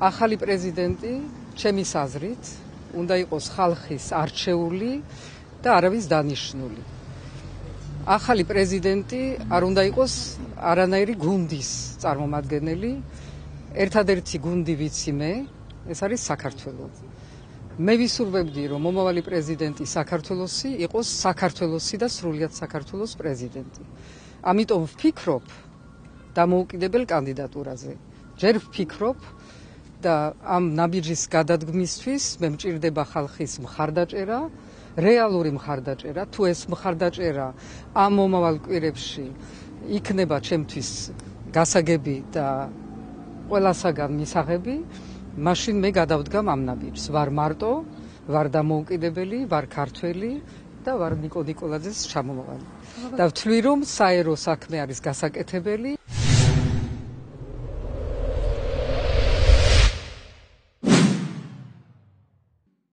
ახალი პრეზიდენტი, ჩემის აზრით, უნდა იყოს ხალხის არჩეული და არავის დანიშნული. ახალი პრეზიდენტი არ უნდა იყოს არანაირი გუნდის წარმომადგენელი. ერთადერთი გუნდი ვიცი მე, ეს არის საქართველო. მე ვისურვებდი, რომ მომავალი პრეზიდენტი საქართველოსი იყოს საქართველოსი და სრულიად საქართველოს პრეზიდენტი. ამიტომ ვფიქრობ დამოუკიდებელ კანდიდატურაზე. ჯერ ვფიქრობ და ამ ნაბიჯის გადადგმისთვის მე მჭირდება ხალხის მხარდაჭერა, რეალური მხარდაჭერა. თუ ეს მხარდაჭერა ამ მომავალ კვირებში იქნება ჩემთვის გასაგები და ყველასაგან მისაღები, მაშინ მე გადავდგამ ამ ნაბიჯს. ვარ მარტო, ვარ დამოუკიდებელი, ვარ ქართველი და ვარ ნიკო ნიკოლაძეს ჩამომავალი. და ვთვლი, რომ საერო საქმე არის გასაკეთებელი.